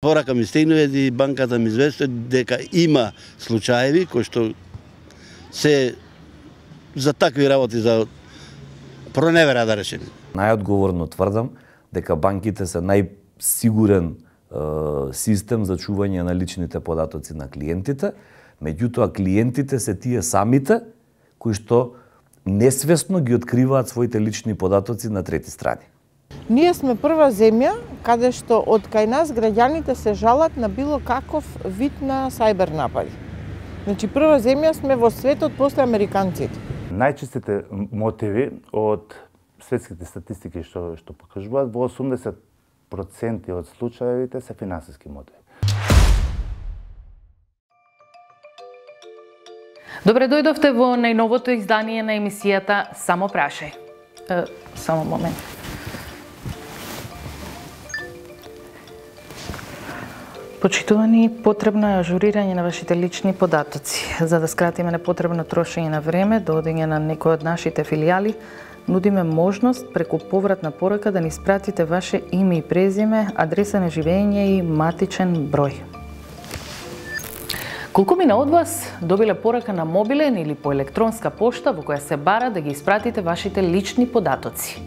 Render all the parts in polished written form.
Порака ми стигнува и банката ми известува дека има случаеви кои што се за такви работи, за проневера да речеме. Најодговорно тврдам дека банките се најсигурен систем за чување на личните податоци на клиентите, меѓутоа клиентите се тие самите кои што несвесно ги откриваат своите лични податоци на трети страни. Ние сме прва земја каде што од кај нас граѓаните се жалат на било каков вид на сајбер напади. Значи прва земја сме во светот после американците. Најчестите мотиви од светските статистики што покажуваат, во 80% од случаевите се финансиски мотиви. Добре дојдовте во најновото издание на емисијата Само прашај. Само момент. Почитувани, потребно е ажурирање на вашите лични податоци. За да скратиме непотребно трошење на време до одење на некој од нашите филијали, нудиме можност преку повратна порака да ни испратите ваше име и презиме, адреса на живење и матичен број. Колкумина од вас добиле порака на мобилен или по електронска пошта во која се бара да ги испратите вашите лични податоци.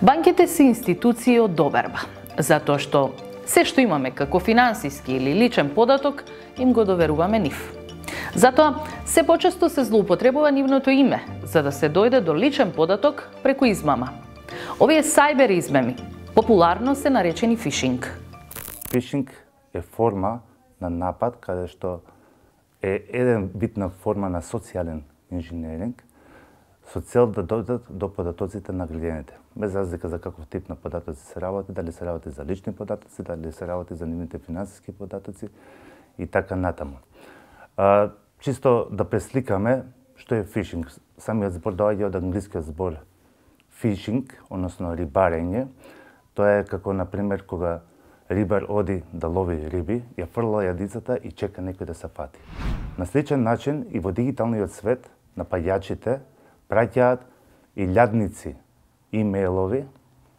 Банките се институции од доверба, затоа што се што имаме како финансиски или личен податок, им го доверуваме нив. Затоа, се почесто се злоупотребува нивното име, за да се дојде до личен податок преку измама. Овие сајбер измами популарно се наречени фишинг. Фишинг е форма на напад каде што е еден вид на форма на социјален инженеринг со цел да дојдат до податоците на граѓаните. Без разлика за каков тип на податоци се работи, дали се работи за лични податоци, дали се работи за нивните финансиски податоци и така натаму. Чисто да пресликаме што е фишинг. Самиот збор доаѓа од англискиот збор фишинг, односно рибарење. Тоа е како, например, кога рибар оди да лови риби, ја фрла јадицата и чека некој да се фати. На сличен начин и во дигиталниот свет напаѓачите праќаат илјадници имејлови,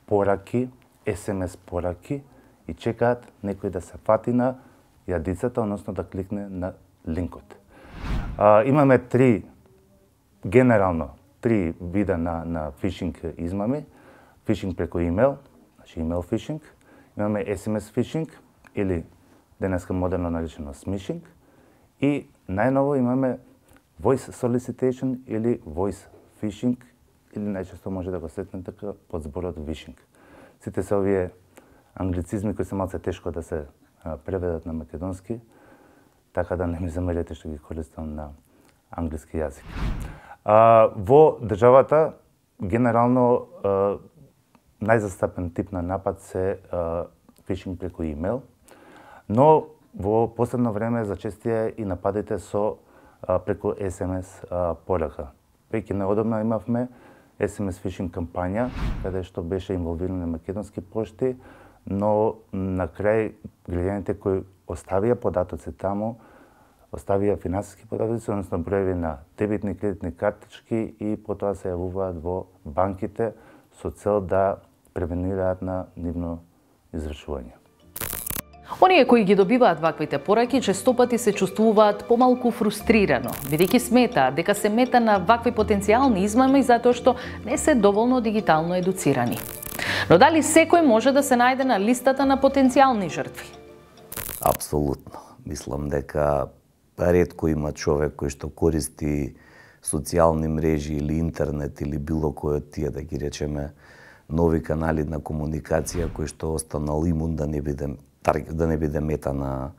пораки, SMS пораки и чекаат некој да се фати на јадицата, односно да кликне на линкот. Имаме генерално три вида на фишинг измами. Фишинг преку имейл, значи имейл фишинг. Имаме SMS фишинг или денеска модерно наречено смишинг. И најново имаме voice solicitation или voice phishing, или најчесто може да го сретнете под зборот вишинг. Сите се овие англицизми кои се малце тешко да се преведат на македонски, така да не ми замерете што ги користам на англиски јазик. Во државата генерално најзастапен тип на напад се фишинг преку имейл, но во последно време зачестија и нападите со преку SMS порака. Веќе неодамна имавме SMS фишинг кампања, каде што беше инволвирани македонски пошти, но на крај граѓаните кои оставија податоци таму, оставија финансиски податоци, односно броеви на дебитни и кредитни картички и потоа се јавуваат во банките со цел да превенираат на нивно извршување. Оние кои ги добиваат ваквите пораки честопати се чувствуваат помалку фрустрирано, бидејќи сметаат дека се мета на вакви потенцијални измами затоа што не се доволно дигитално едуцирани. Но дали секој може да се најде на листата на потенцијални жртви? Апсолутно. Мислам дека ретко има човек кој што користи социјални мрежи или интернет или било кој од тие, да ги речеме, нови канали на комуникација кој што останал имун да не биде мета на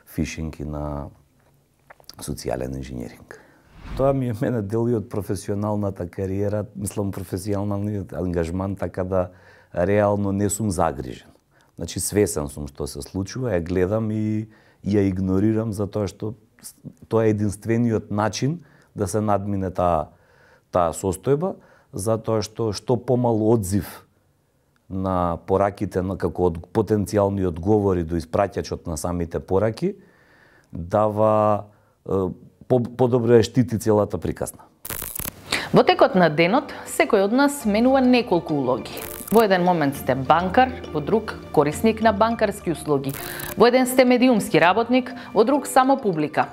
фишинг и на социјален инженеринг. Тоа ми е мене дел и од професионалната кариера, мислам професионалниот ангажман, така да реално не сум загрижен. Значи свесен сум што се случува, ја гледам и ја игнорирам затоа што тоа е единствениот начин да се надмине таа состојба, затоа што помал одзив на пораките како потенцијални одговори до испраќачот на самите пораки дава подобро ја штити целата приказна. Во текот на денот, секој од нас менува неколку улоги. Во еден момент сте банкар, во друг корисник на банкарски услуги. Во еден сте медиумски работник, во друг само публика.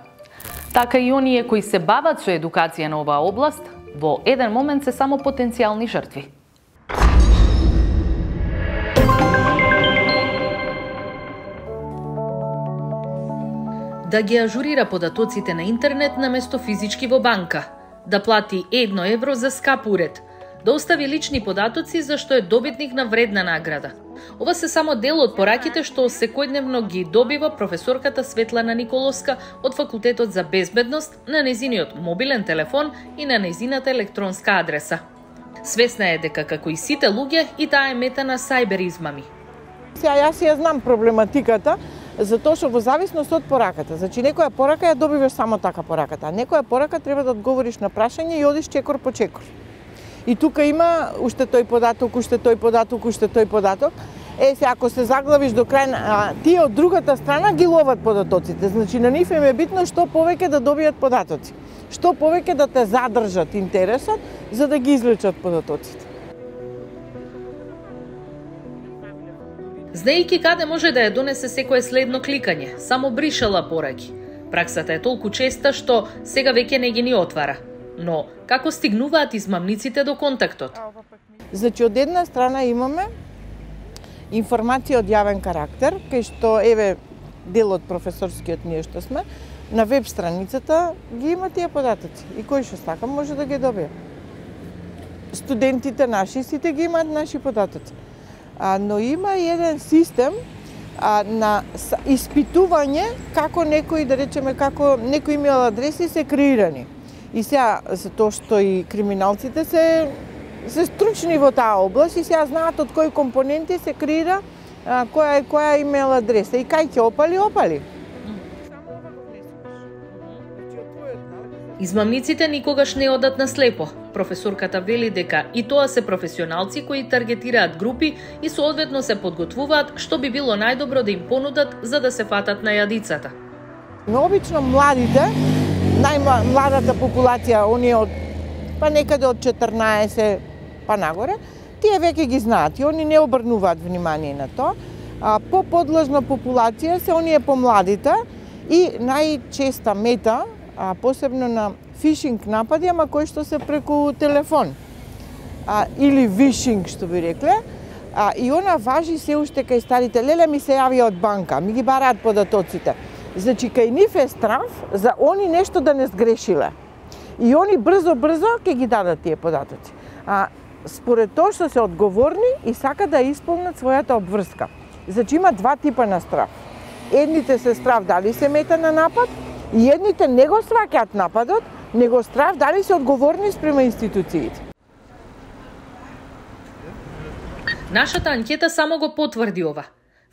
Така и оние кои се бават со едукација на оваа област, во еден момент се само потенцијални жртви. Да ги ажурира податоците на интернет наместо физички во банка, да плати 1 евро за скап уред, да остави лични податоци за што е добитник на вредна награда. Ова се само дел од пораките што секојдневно ги добива професорката Светлана Николовска од Факултетот за безбедност на нејзиниот мобилен телефон и на нејзината електронска адреса. Свесна е дека како и сите луѓе и таа е мета на сајбер измами. Јас ја знам проблематиката, затоа што во зависност од пораката. Значи некоја порака ја добиваш само така пораката, а некоја порака треба да одговориш на прашање и одиш чекор по чекор. И тука има уште тој податок, уште тој податок, уште тој податок. Се ако се заглавиш до крај, тие од другата страна ги ловат податоците. Значи на нив им е битно што повеќе да добијат податоци. Што повеќе да те задржат интересот за да ги извлечат податоците. Знаејќи каде може да ја донесе секое следно кликање, само бришала пораки. Праксата е толку честа што сега веќе не ги ни отвара. Но како стигнуваат измамниците до контактот? Значи од една страна имаме информација од јавен карактер, кај што еве дел од професорскиот ние што сме, на веб страницата ги има тие податоци и кој што сака може да ги добие. Студентите наши сите ги имаат наши податоци. Но има и еден систем на испитување како некои, да речеме, како некои имейл адреси се креирани. И сега, затоа што и криминалците се стручни во таа област и сега знаат од кои компоненти се креира која имейл адреса и кај ќе опали. Измамниците никогаш не одат на слепо. Професорката вели дека и тоа се професионалци кои таргетираат групи и соодветно се подготвуваат што би било најдобро да им понудат за да се фатат на јадицата. Но обично младите, најмладата популација, оние од некаде од 14 па нагоре, тие веќе ги знаат и они не обрнуваат внимание на тоа. По-подлежна популација се оние помладите и најчеста мета, посебно на фишинг напади, ама кои што се преку телефон. Или вишинг, што би рекле. И она важи се уште кај старите. Леле ми се јавија од банка, ми ги бараат податоците. Значи, кај нив е страф за они нешто да не сгрешиле. И они брзо ќе ги дадат тие податоци. Според тоа што се одговорни и сака да исполнат својата обврска. Значи, има два типа на страф. Едните се страф дали се мета на напад, и едните не го сваќаат нападот, него страф дали се одговорни спрема институциите. Нашата анкета само го потврди ова.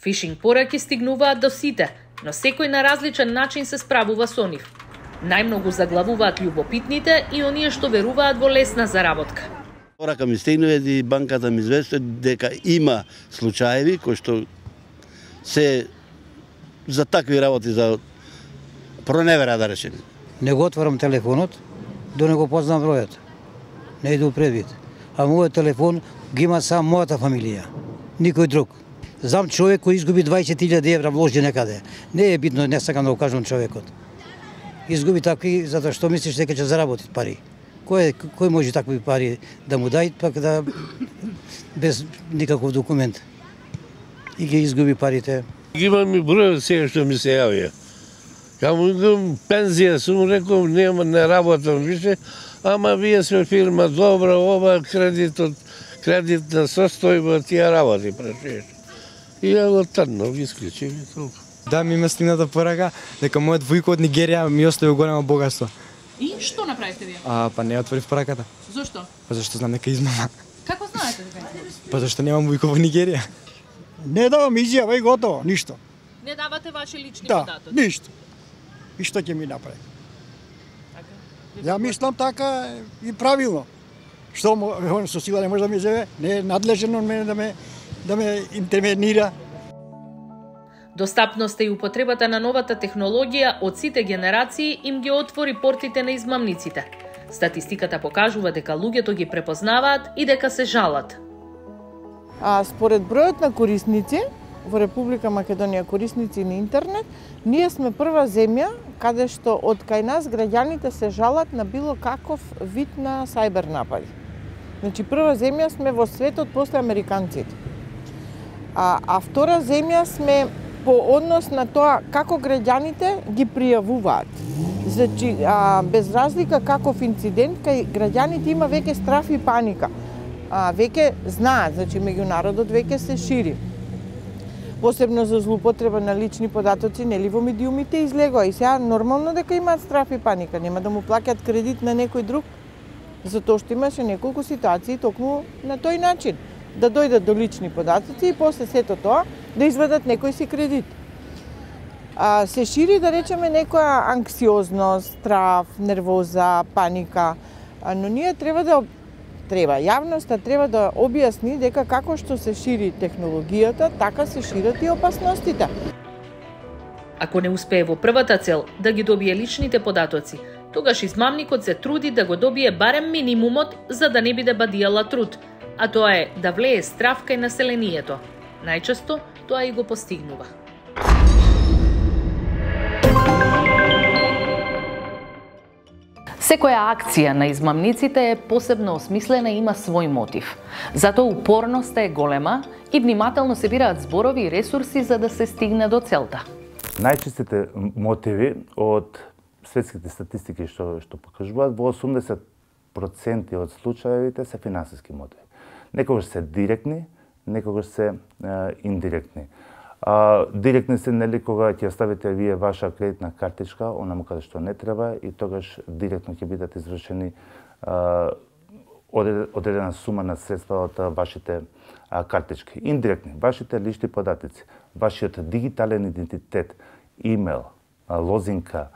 Фишинг пораки стигнуваат до сите, но секој на различен начин се справува со нив. Најмногу заглавуваат љубопитните и оние што веруваат во лесна заработка. Порака ми стигнува и банката ми известува дека има случаеви кои што се за такви работи, за проневера, да речеме. Не го отварам телефонот, до не го познам бројот. Не иду предвид. А мојот телефон ги има само мојата фамилија, никој друг. Знам човек кој изгуби 20.000 евра вложи некаде. Не е битно, не сакам да го кажам човекот. Изгуби такви затоа што мислиш дека ќе заработи пари. Кој може такви пари да му дај, пак да без никаков документ. И ги изгуби парите. Имам и број сега што ми се јавија. Каму пензија сум рекол, не работам више, ама вие сме фирма добра, ова кредитна состојба, тие работи прашуваш. И ја го таднав, ги исклучив и толку. Да, ми има стигната порака дека мојот војко од Нигерија ми остави големо богатство. И што направивте вие? Па не отворив пораката. Зошто? Па зашто знам дека измама. Како знаете дека е? Па зашто немам војко во Нигерија. Не давам изјава и готово, ништо. Не давате ваши лични Да, податоци? ништо. И што ќе ми направи? Ја мислам така и правилно. Што со сила не може да ми зеве, не е надлежен од мене да ме интервенира. Достапноста и употребата на новата технологија од сите генерации им ги отвори портите на измамниците. Статистиката покажува дека луѓето ги препознаваат и дека се жалат. Според бројот на корисници во Република Македонија, корисници на интернет, ние сме прва земја каде што од кај нас граѓаните се жалат на било каков вид на сајбер напади. Значи прва земја сме во светот после американците. А втора земја сме по однос на тоа како граѓаните ги пријавуваат. Значи, без разлика каков инцидент, кај граѓаните има веќе страф и паника. Веќе знаат, значи меѓу народот веќе се шири. Посебно за злоупотреба на лични податоци, нели во медиумите излегува. И сега нормално дека имаат страф и паника, нема да му плаќаат кредит на некој друг, затоа што имаше неколку ситуации токму на тој начин. Да дојдат до лични податоци и после сето тоа да извадат некој си кредит. Се шири, да речеме, некоја анксиозност, страф, нервоза, паника, но ние јавноста треба да објасни дека како што се шири технологијата, така се шират и опасностите. Ако не успее во првата цел да ги добие личните податоци, тогаш измамникот се труди да го добие барем минимумот за да не биде бадијала труд, а тоа е да влее страф кај населението. Најчесто тоа и го постигнува. Секоја акција на измамниците е посебно осмислена и има свој мотив. Затоа упорноста е голема и внимателно се бираат зборови и ресурси за да се стигне до целта. Најчестите мотиви од светските статистики што покажуваат, во 80% од случаевите се финансиски мотиви. Некогаш се директни, некогаш се индиректни. Директни се, нели, кога ќе оставите вие ваша кредитна картичка, онаму каде што не треба, и тогаш директно ќе бидат извршени одредена сума на средства од вашите картички. Индиректни, вашите лични податоци, вашиот дигитален идентитет, имейл, лозинка,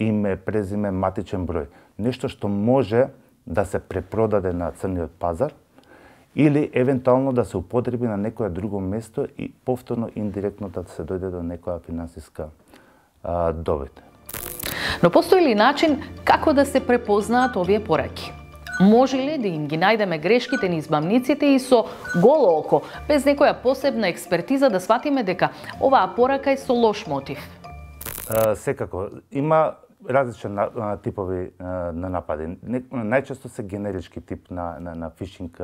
име, презиме, матичен број. Нешто што може да се препродаде на црниот пазар, или евентуално да се употреби на некое друго место и повторно индиректно да се дојде до некоја финансиска добит. Но постои ли начин како да се препознаат овие пораки? Може ли да им ги најдеме грешките на измамниците и со голо око, без некоја посебна експертиза да сватиме дека оваа порака е со лош мотив? Секако. Има различни типови на напади. Најчесто се генерички тип на фишинг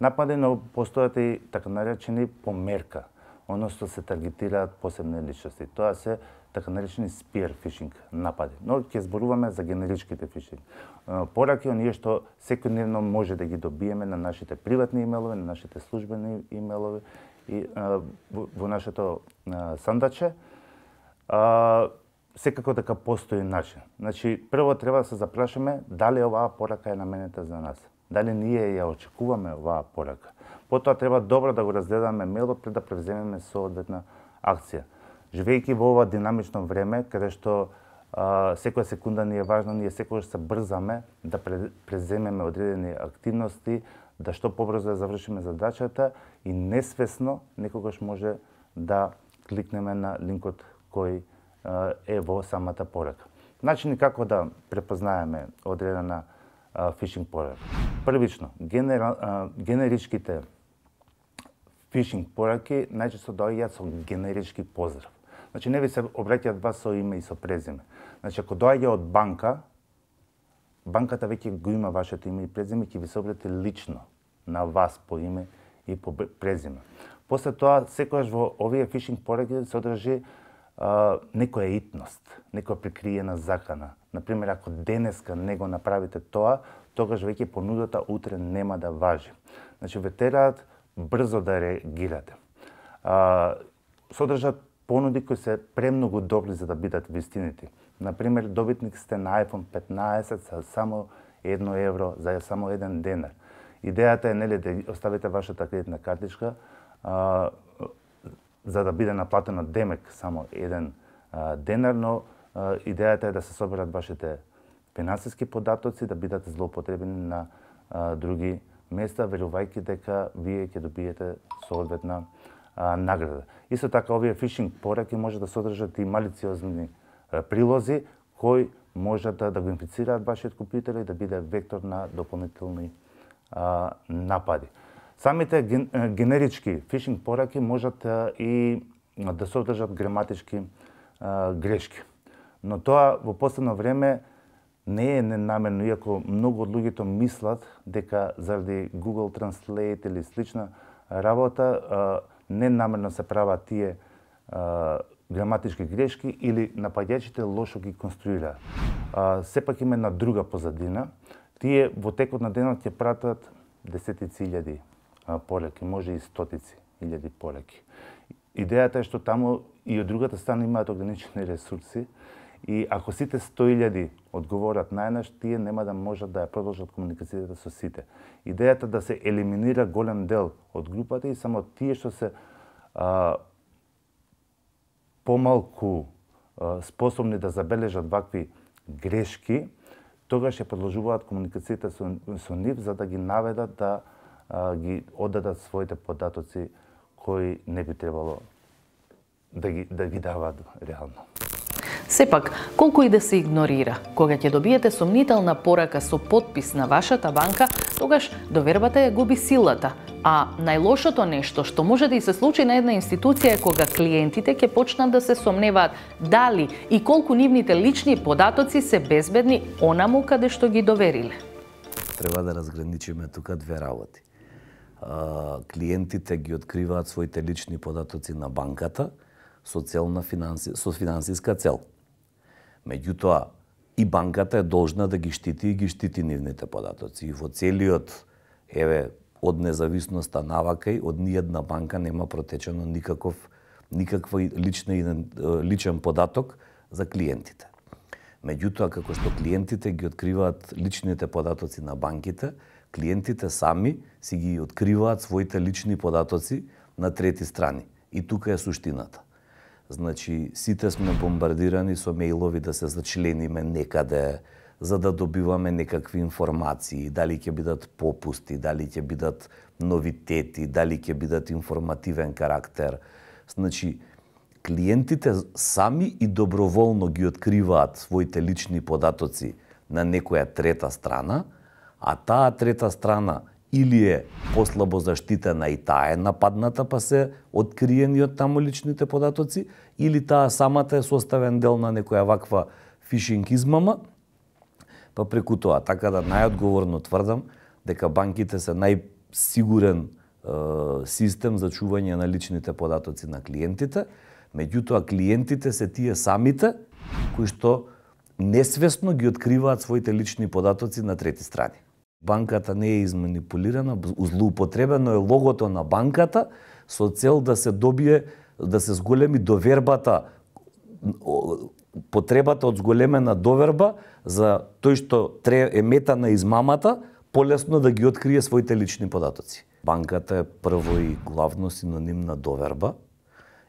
напади, но постојат и така наречени померка, односно се таргетираат посебни личности. Тоа се така наречени spear фишинг напади. Но ќе зборуваме за генеричките фишинг пораки, оние што секојдневно може да ги добиеме на нашите приватни имейлови, на нашите службени имейлови и во нашето сандаче. Секако така постои начин. Значи, прво треба да се запрашаме дали оваа порака е наменета за нас. Дали ние ја очекуваме оваа порака. Потоа треба добро да го разгледаме мейлот пред да превземеме соодветна акција. Живејќи во ова динамично време, каде што секоја секунда ни е важна, ние секогаш се брзаме да преземеме одредени активности, да што побрзо да завршиме задачата и несвесно некогаш може да кликнеме на линкот кој е во самата порака. Начини како да препознаеме одредена фишинг порака. Првично, генеричките фишинг пораки најчесто доаѓаат со генерички поздрав. Значи, не ви се обраќаат вас со име и со презиме. Значи, ако доаѓа од банка, банката веќе го има вашето име и презиме, ќе ви се обрати лично на вас по име и по презиме. После тоа, секогаш во овие фишинг пораки се одржи некоја итност, некоја прикриена закана. Например, ако денеска не го направите тоа, тогаш веќе понудата утре нема да важи. Значи, ве тераат брзо да реагирате. Содржат понуди кои се премногу добри за да бидат вистинити. Например, добитник сте на iPhone 15 за само 1 евро, за само 1 денар. Идејата е, нели, да оставите вашата кредитна картичка за да биде наплатено демек само 1 денар, но идејата е да се соберат вашите финансиски податоци, да бидат злоупотребени на други места, верувајќи дека вие ќе добиете соодветна награда. Исто така, овие фишинг пораки може да содржат и малициозни прилози кои можат да го инфицираат вашиот компјутер и да биде вектор на дополнителни напади. Самите генерички фишинг пораки можат и да содржат граматички грешки. Но тоа во последно време не е ненамерно, иако многу од луѓето мислат дека заради Google Translate или слична работа ненамерно се прават тие граматички грешки или напаѓачите лошо ги конструираат. Сепак има една друга позадина. Тие во текот на денот ќе пратат десетици илјади пораки, може и стотици илјади пораки. Идејата е што таму и од другата страна имаат ограничени ресурси и ако сите 100.000 одговорат најнаш, тие нема да можат да ја продолжат комуникацијата со сите. Идејата да се елиминира голем дел од групата и само тие што се помалку способни да забележат вакви грешки, тогаш ќе продолжуваат комуникацијата со нив за да ги наведат да ги оддадат своите податоци кои не би требало да ги даваат реално. Сепак, колку и да се игнорира, кога ќе добиете сомнителна порака со потпис на вашата банка, тогаш довербата ја губи силата. А најлошото нешто што може да и се случи на една институција е кога клиентите ќе почнат да се сомневаат дали и колку нивните лични податоци се безбедни онаму каде што ги довериле. Треба да разграничиме тука две работи. Клиентите ги откриваат своите лични податоци на банката со финансиска цел. Меѓутоа, и банката е должна да ги штити и ги штити нивните податоци. И во целиот, од независноста навака и од ниједна банка нема протечено никаква личен податок за клиентите. Меѓутоа, како што клиентите ги откриваат личните податоци на банките, клиентите сами си ги откриваат своите лични податоци на трети страни. И тука е суштината. Значи, сите сме бомбардирани со мејлови да се зачлениме некаде, за да добиваме некакви информации, дали ќе бидат попусти, дали ќе бидат новитети, дали ќе бидат информативен карактер. Значи, клиентите сами и доброволно ги откриваат своите лични податоци на некоја трета страна, а таа трета страна или е послабо заштитена и таа е нападната, па се откриени од таму личните податоци, или таа самата е составен дел на некоја ваква фишинг измама, па преку тоа. Така да најодговорно тврдам дека банките се најсигурен систем за чување на личните податоци на клиентите, меѓутоа клиентите се тие самите кои што несвесно ги откриваат своите лични податоци на трети страни. Банката не е изманипулирана, злоупотребено е логото на банката со цел да се добие, да се зголеми довербата, потребата од зголемена доверба за тој што е мета на измамата, полесно да ги открие своите лични податоци. Банката е прво и главно синоним на доверба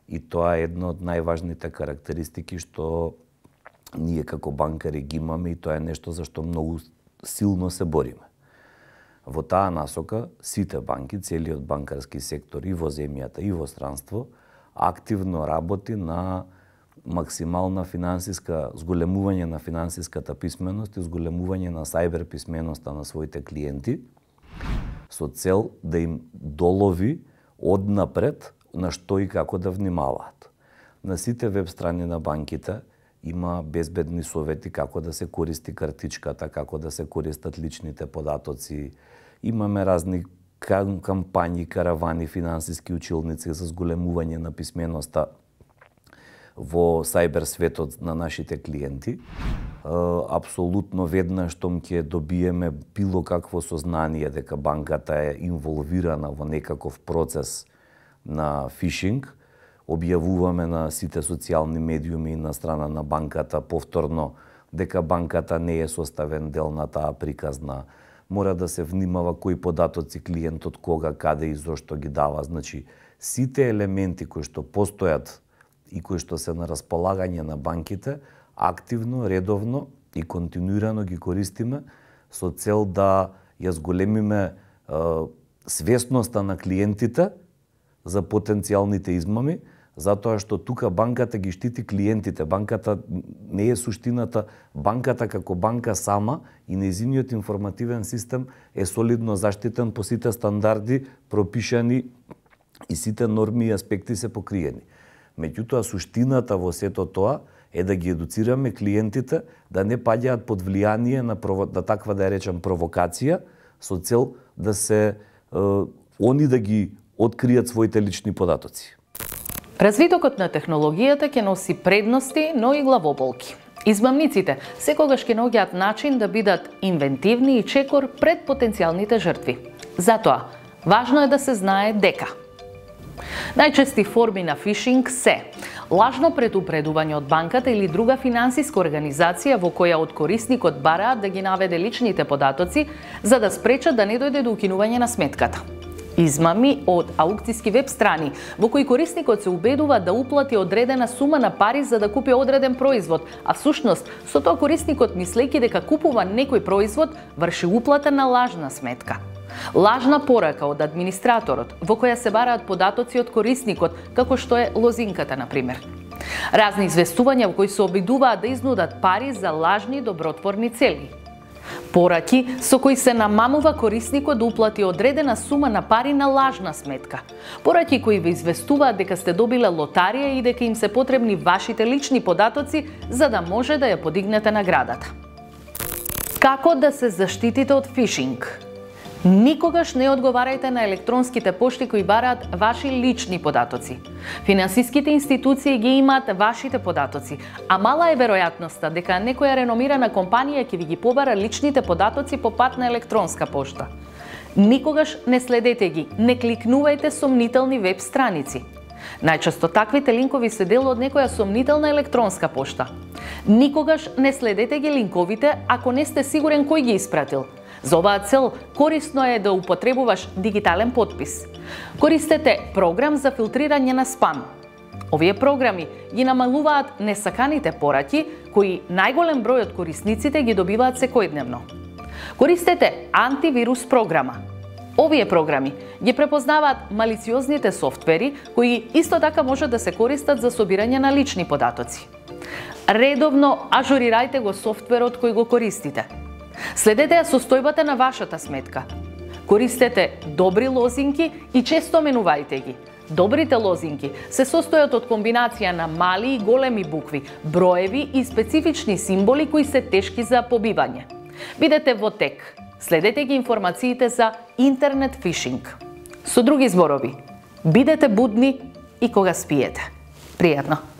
и тоа е една од најважните карактеристики што ние како банкари ги имаме и тоа е нешто за што многу силно се бориме. Во таа насока, сите банки, целиот банкарски сектор и во земјата и во странство, активно работи на максимална финансиска, зголемување на финансиската писменост и зголемување на сајбер писменоста на своите клиенти, со цел да им долови однапред на што и како да внимаваат. На сите веб страни на банките има безбедни совети како да се користи картичката, како да се користат личните податоци. Имаме разни кампањи, каравани, финансиски училници за зголемување на писменоста во сајбер светот на нашите клиенти. Апсолутно веднаш штом ќе добиеме било какво сознание дека банката е инволвирана во некаков процес на фишинг, објавуваме на сите социјални медиуми на страна на банката повторно дека банката не е составен дел на таа приказна. Мора да се внимава кои податоци клиентот кога, каде и зошто ги дава. Значи, сите елементи кои што постојат и кои што се на располагање на банките, активно, редовно и континуирано ги користиме со цел да ја зголемиме свесноста на клиентите за потенцијалните измами, затоа што тука банката ги штити клиентите. Банката не е суштината. Банката како банка сама и нејзиниот информативен систем е солидно заштитен по сите стандарди пропишани и сите норми и аспекти се покриени. Меѓутоа, суштината во сето тоа е да ги едуцираме клиентите да не паѓаат под влијание на таква, да ја речем, провокација, со цел да се они да ги откријат своите лични податоци. Развитокот на технологијата ќе носи предности, но и главоболки. Измамниците секогаш ќе наоѓаат начин да бидат инвентивни и чекор пред потенцијалните жртви. Затоа, важно е да се знае дека најчести форми на фишинг се лажно предупредување од банката или друга финансиска организација во која од корисникот бараат да ги наведе личните податоци за да спречат да не дојде до укинување на сметката. Измами од аукцијски веб страни во кои корисникот се убедува да уплати одредена сума на пари за да купи одреден производ, а всушност со тоа корисникот мислејќи дека купува некој производ врши уплата на лажна сметка. Лажна порака од администраторот во која се бараат податоци од корисникот, како што е лозинката на пример. Разни известувања во кои се обидуваат да изнудат пари за лажни добротворни цели. Пораки со кои се намамува корисникот да уплати одредена сума на пари на лажна сметка. Пораки кои ве известуваат дека сте добиле лотарија и дека им се потребни вашите лични податоци за да може да ја подигнете наградата. Како да се заштитите од фишинг? Никогаш не одговарајте на електронските пошти кои бараат ваши лични податоци. Финансиските институции ги имаат вашите податоци, а мала е веројатноста дека некоја реномирана компанија ќе ви ги побара личните податоци по пат на електронска пошта. Никогаш не следете ги, не кликнувајте сомнителни веб страници. Најчесто таквите линкови се дел од некоја сомнителна електронска пошта. Никогаш не следете ги линковите ако не сте сигурен кој ги испратил. За оваа цел корисно е да употребуваш дигитален потпис. Користете програм за филтрирање на спам. Овие програми ги намалуваат несаканите пораки кои најголем број од корисниците ги добиваат секојдневно. Користете антивирус програма. Овие програми ги препознаваат малициозните софтвери кои исто така можат да се користат за собирање на лични податоци. Редовно ажурирајте го софтверот кој го користите. Следете ја состојбата на вашата сметка. Користете добри лозинки и често менувајте ги. Добрите лозинки се состојат од комбинација на мали и големи букви, броеви и специфични символи кои се тешки за побивање. Бидете во тек. Следете ги информациите за интернет фишинг. Со други зборови, бидете будни и кога спиете. Пријатно!